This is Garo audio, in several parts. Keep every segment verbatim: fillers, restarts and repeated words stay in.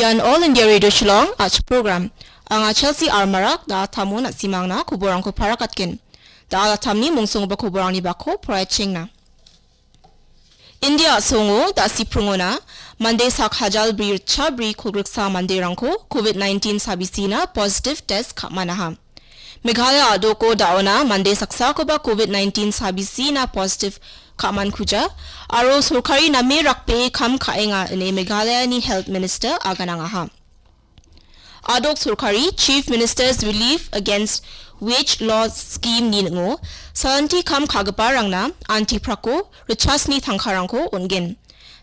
Ian All India Radio Shillong, a·chik program. Anga Chelsea Armarak, da·atamo na·simangna koborangko parakatgen. Da·alatamni mongsonggipa koborangni bako poraichengna. India a·songo da·sipringona mande sak hajal bri ritcha bri kolgriksa manderangko covid nineteen sabisina positive test ka·manaha. Meghalaya a·doko da·ona mande saksakoba covid nineteen sabisina positive ka·mankuja aro sorkari name rakbee kam ka·enga ine Meghalayani Health Minister aganangaha. A·dok sorkari Chief Minister's Relief Against Wage Loss Scheme-ni ning·o salanti kam ka·giparangna antiprako ritchasni tangkarangko on·gen.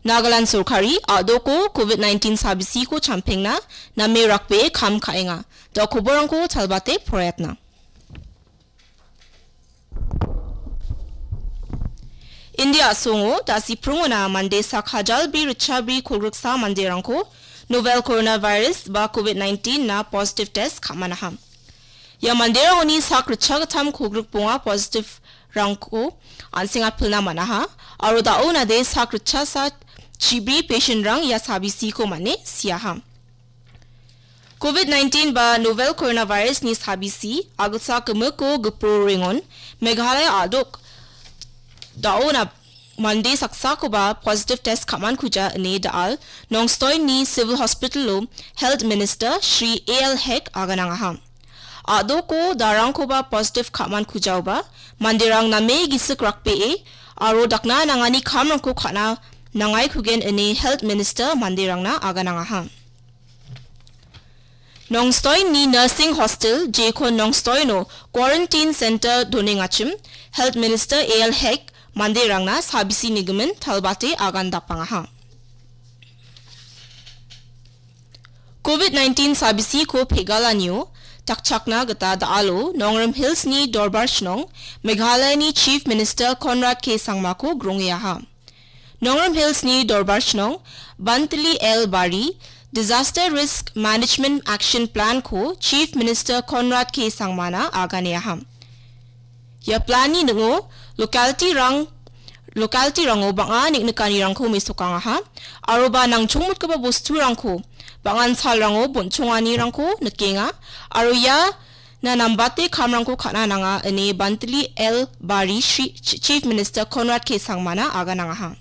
Nagaland sorkari a·doko covid nineteen sabisiko champengna name rakbee kam ka·enga. Da koborangko talbate poraiatna. India a·songo da·sipringona mande sak hajal bri ritcha bri kolgriksa manderangko novel coronavirus ba covid nineteen na positive test ka·manaha. Ia manderangoni sak ritcha gittam kolgrik bonga positive-rangko an·seng apilna man·aha aro da·o nade sak ritchasa chibri patient-rang ia sabisiko man·e siaha. Covid nineteen ba novel coronavirus-ni sabisi agilsa gimiko gipro rengon Meghalaya a·dok da·ona mande saksakoba positive test ka·mankuja ine da·al Nongstoin-ni Civil Hospital-o Health Minister Shri A L Hek aganangaha. A·doko darangkoba positive ka·mankujaoba manderang name gisik rakbee aro dakna nangani kamrangko ka·na nangaikugen ine Health Minister manderangna aganangaha. Nongstoin-ni Nursing Hostel, jekon Nongstoin-o Quarantine Center donengachim, Health Minister A L Hek manderangna sabisi nigimin talbate agan dapangaha. Covid nineteen sabisiko pegalanio dakchakna gita da·alo Nongrim Hills-ni Dorbar Shnong, Meghalayani Chief Minister Conrad K Sangmako grongeaha. Nongrim Hills-ni Dorbar Shnong, Bantili L Bari, Disaster Risk Management Action Plan-ko Chief Minister Conrad K Sangmana aganeaha. Ia plan-ni ning·o locality-rang, locality-rango bang·a neng·nikanirangko mesokangaha, aroba nangchongmotgipa bosturangko bang·an salrango bonchonganirangko nikenga, aro ia na nambate kamrangko ka·na nanga ine Bantili L Bari Shri-, Ch-, Chief Minister Conrad K Sangmana aganangaha.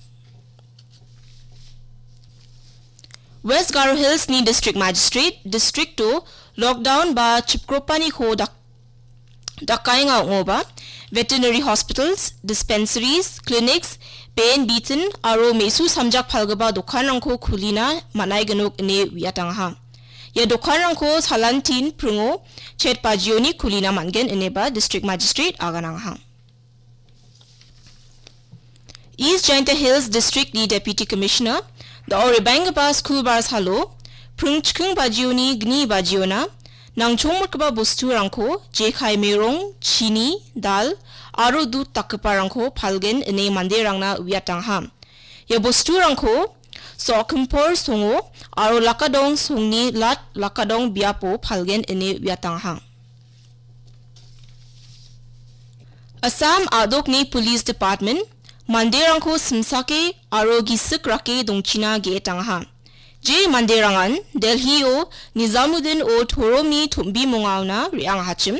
West Garo Hills-ni District Magistrate, district-o lockdown ba chipgropaniko dak-, dakaenga ong·oba, veterinary hospitals, dispensaries, clinics, ben bitin aro me·su samjak palgipa dokanrangko kulina man·aignok ine uiatangaha. Ia dokanrangko salantin pringo chet bajioni kulina man·gen ineba District Magistrate aganangaha. East Jaintia Hills District-ni Deputy Commissioner, da·o rebenggipa skulbar salo, pringchking bajioni gni bajiona, nangchongmotgipa bosturangko jekai merong, chini, dal, aro dud dakgiparangko palgen ine manderangna uiatangaha. Ia bosturangko Sokimpor songo aro Lakadong songni lat Lakadong biapo palgen ine uiatangaha. Assam a·dokni Police Department manderangko simsake aro gisik rake dongchina ge·etangaha. Je manderangan Delhi-o Nizamuddin-o toromni tombimongaona re·angahachim,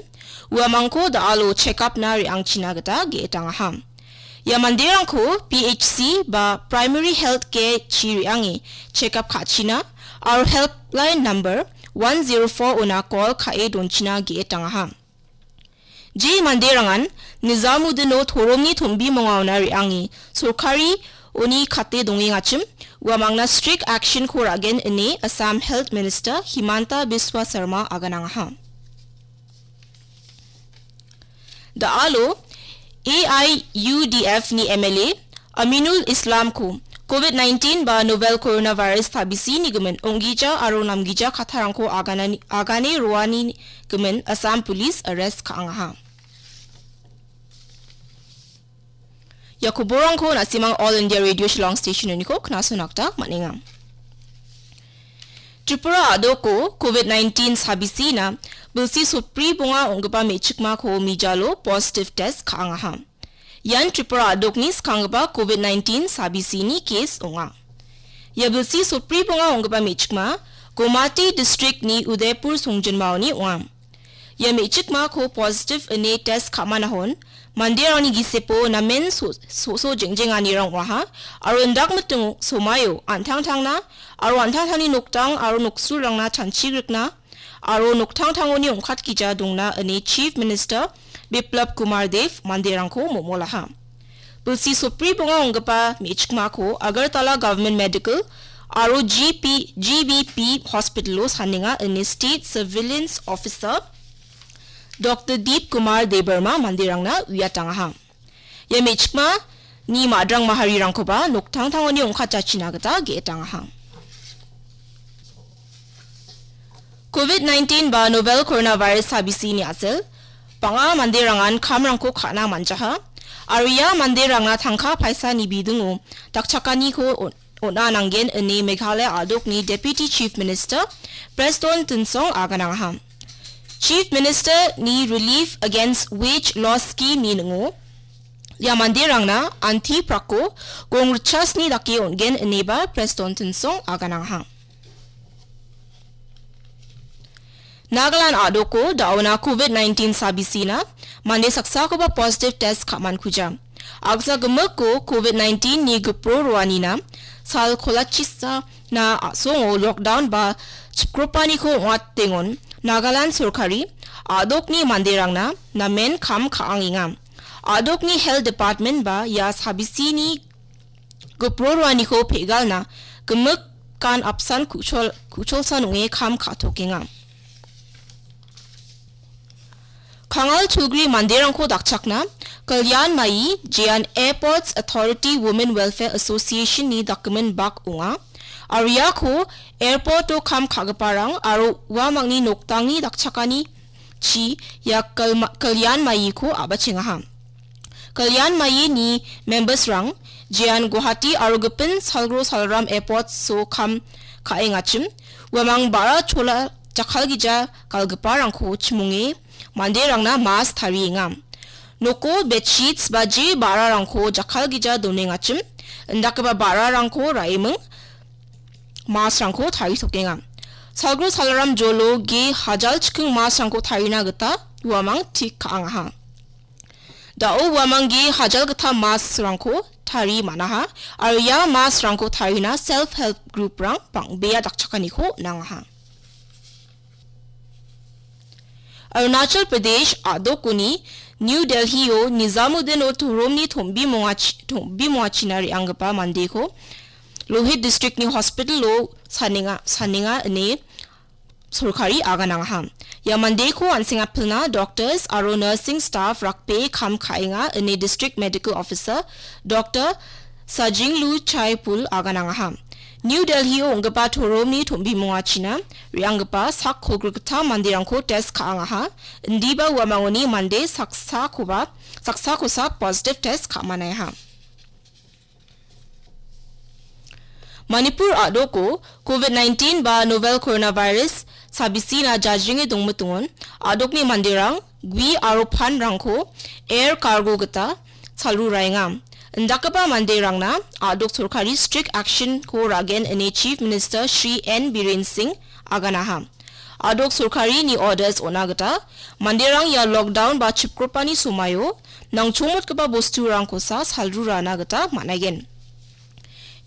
uamangko da·alo check-up-na re·angchina gita ge·etangaha. Ia manderangko P H C ba Primary Health Care-chi re·ange check-up ka·china aro helpline number one zero four-ona call ka·e donchina ge·etangaha. Je manderangan Nizamuddin-o toromni tombimongaona re·ange sorkari oni kate dongengachim, uamangna strict action-ko ra·gen ine Assam Health Minister Himanta Biswa Sarma aganangaha. Da·alo A I U D F-ni M L A Aminul Islamko covid nineteen ba novel coronavirus tabisi nigimin ong·gija aro namgija kattarangko aganani-, agane roani gimin Assam Police arrest ka·angaha. Ia koborangko na·simang All India Radio Shillong Station-oniko knasona gita man·enga. Tripura a·doko covid nineteen sabisina bilsi sotbri bonga ong·gipa me·chikmako mijalo positive test ka·angaha. Ian Tripura a·dokni skanggipa covid nineteen sabisini case ong·a. Ia bilsi sotbri bonga ong·gipa me·chikma Gomati districtni Udaipur songjinmaoni ong·a. Ia me·chikmako positive ine test ka·manahon manderangni gisepo namen so-, so-, so jeng·jenganirang ong·aha, aro indakmiting somaio an·tangtangna aro an·tangtangni noktang aro noksulrangna chanchigrikna aro noktangtangoni ong·katgija dongna ine Chief Minister Biplab Kumar Dev manderangko momolaha. Bilsi sopri bonga ong·gipa me·chikmako Agartala Government Medical aro G P, G B P Hospital-o sanenga ine State Surveillance Officer Doctor Deep Kumar Debbarma manderangna uiatangaha. Ia me·chikmani madrang mahariraangkoba noktangtangoni ong·katjachina gita ge·etangaha. Covid nineteen ba novel coronavirus sabisini a·sel bang·a manderangan kamrangko ka·na man·jaha, aro ia manderangna tangka paisani bidingo dakchakaniko on-, on·a nanggen ine Meghalaya a·dokni Deputy Chief Minister Prestone Tynsong aganangaha. Chief Minister-ni Relief Against Wage Loss Scheme-ni ning·o ia manderangna anti prako gong ritchasni dake on·gen ineba Prestone Tynsong aganangaha. Nagaland a·doko da·ona Covid nineteen sabisina mande saksakoba positive test ka·mankuja. Agsa gimikko Covid nineteen-ni gipro roanina sal kolachisa na a·songo lockdown ba chipkropaniko ong·atengon Nagaland sorkari a·dokni manderangna namen kam ka·angenga. A·dokni Health Department ba ia sabisini gipro roaniko pe·galna gimikan apsan ku·chol-, ku·cholsan ong·e kam ka·tokenga. Kangal Chugri manderangko dakchakna Kalyan Mai, jean Airports Authority Women Welfare Association-ni dakgimin bak ong·a. Aro iako airport-o kam ka·giparang aro uamangni noktangni dakchakani chi ia Kalma-, Kalyan Maiko a·bachengaha. Kalyan Maini members-rang jean Guwahati aro gipin Salgro Salram Airports-o kam ka·engachim, uamang ba·ra chola jakkalgija galgiparangko chimonge manderangna mask tarienga. Noko bedsheets ba je ba·rarangko jakkalgija donengachim, indakgipa ba·rarangko ra·eming mask-rangko taritokenga. Salgro Salram jolo ge hajal chiking mask-rangko tarina gita uamang tik ka·angaha. Da·o uamang ge hajal gita mask-rangko tari man·aha, aro ia mask-rangko tarina self help group-rang bang·bea dakchakaniko nangaha. Arunachal Pradesh a·dokoni New Delhi-o Nizamuddin-o toromni tombimongachi-, tombimongachina re·anggipa mandeko Lohit district-ni hospital-o sanenga, sanenga ine sorkari aganangaha. Ia mandeko an·seng apilna doctors aro nursing staff rakbee kam ka·enga ine District Medical Officer Doctor Sajinglu Chaipul aganangaha. New Delhi-o ong·gipa toromni tombimongachina re·anggipa sak kolgrikgittam manderangko test ka·angaha, indiba uamangoni mande saksakoba, saksakosa positive test ka·manaiha. Manipur a·doko Covid nineteen ba novel coronavirus sabisina jajringe dongmitongon a·dokni manderang gui aro panrangko air cargo gita salruraenga. Indakgipa manderangna a·dok sorkari strict action-ko ra·gen ine Chief Minister Shri N Biren Singh aganaha. A·dok sorkarini orders on·a gita manderang ia lockdown ba chipkropani somaio nangchongmotgipa bosturangkosa salrurana gita man·aigen.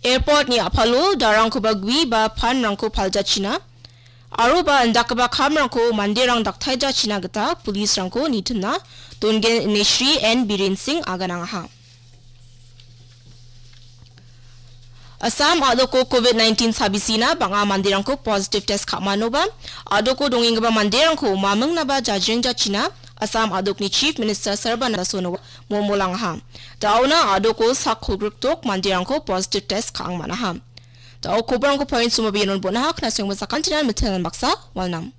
Airport-ni a·palo darangkoba gui ba panrangko paljachina aroba indakgipa kamrangko manderang daktaijachina gita police-rangko nitimna dongen ine Shri N Biren Singh aganangaha. Assam a·doko Covid nineteen sabisina bang·a manderangko positive test ka·manoba, a·doko dongenggipa manderangko mamingnaba jajrengjachina Assam a·dokni Chief Minister Sarbananda Sonowal momolangaha. Da·ona a·doko sak kolgrikdok manderangko positive test ka·ang man·aha. Da·o koborangko points-o mabianon bon·aha, knasenggipa sakantinan mitenan baksa walnam.